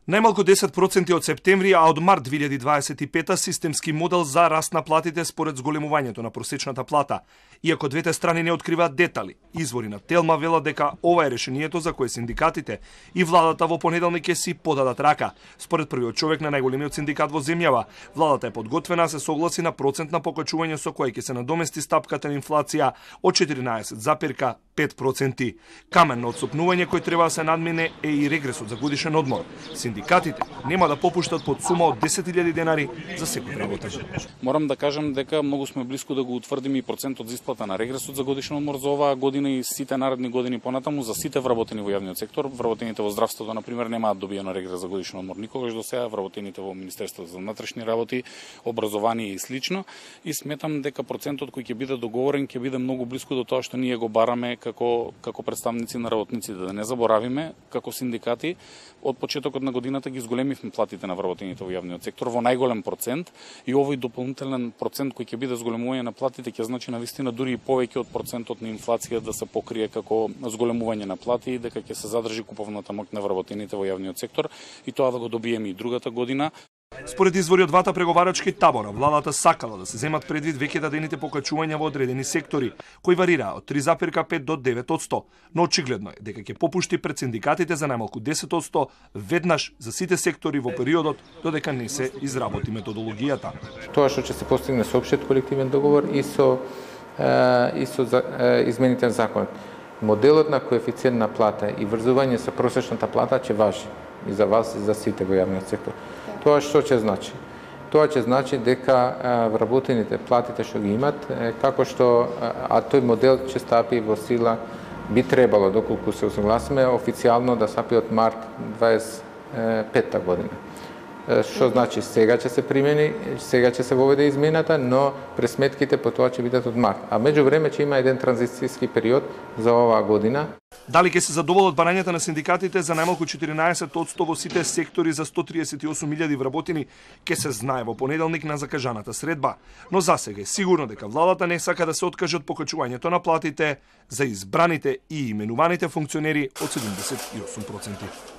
Најмалку 10% од септември, а од март 2025 системски модел за раст на платите според зголемувањето на просечната плата. Иако двете страни не откриваат детали, извори на Телма велат дека ова е решението за кое синдикатите и владата во понеделник ќе си подадат рака. Според првиот човек на најголемиот синдикат во земјава, владата е подготвена да се согласи на процент на покачување со кој ќе се надомести стапката на инфлација од 14,5%. Камен на отстапнување кој треба да се надмине е и регресот за годишен одмор. Синдикатите нема да попуштат под сума од 10.000 денари за секој работен. Морам да кажам дека многу сме близко да го утврдиме и процентот за исплата на регресот за годишен одмор за оваа година и сите наредни години понатаму за сите вработени во јавниот сектор. Вработените во здравството, например, немаат добиено регрес за годишен одмор никогаш до сега, вработените во Министерството за внатрешни работи, образование и слично. И сметам дека процентот кој ќе биде договорен ќе биде многу близко до тоа што ние го бараме како представници на работниците. Да не заборавиме, како синдикати, од почетокот на годината ги зголемивме платите на вработените во јавниот сектор во најголем процент и овој дополнителен процент кој ќе биде зголемување на платите ќе значи навистина дури и повеќе од процентот на инфлација да се покрие како зголемување на плати и дека ќе се задржи куповната моќ на вработените во јавниот сектор и тоа да го добиеме и другата година. Според извори од двата преговарачки табора, владата сакала да се земат предвид веќе дадените покачувања во одредени сектори, кои варираа од 3,5 до 9%, но очигледно е дека ќе попушти пред синдикатите за најмалку 10% веднаш за сите сектори во периодот додека не се изработи методологијата. Тоа што ќе се постигне со општиот колективен договор и со измените на законот. Моделот на коефициент на плата и врзување со просечната плата ќе важи и за вас и за сите во јавниот сектор. Тоа што ќе значи? Тоа ќе значи дека вработените платите што ги имат, како што тој модел ќе стапи во сила, би требало, доколку се усогласиме, официјално да стапи од март 25 година. Што значи сега ќе се примени, сега ќе се воведе измената, но пресметките по тоа ќе бидат од март. А меѓувреме ќе има еден транзицијски период за оваа година. Дали ќе се задоволат барањата на синдикатите за најмалку 14% во сите сектори за 138.000 вработени ќе се знае во понеделник на закажаната средба. Но засега е сигурно дека владата не сака да се откаже од покачувањето на платите за избраните и именуваните функционери од 78%.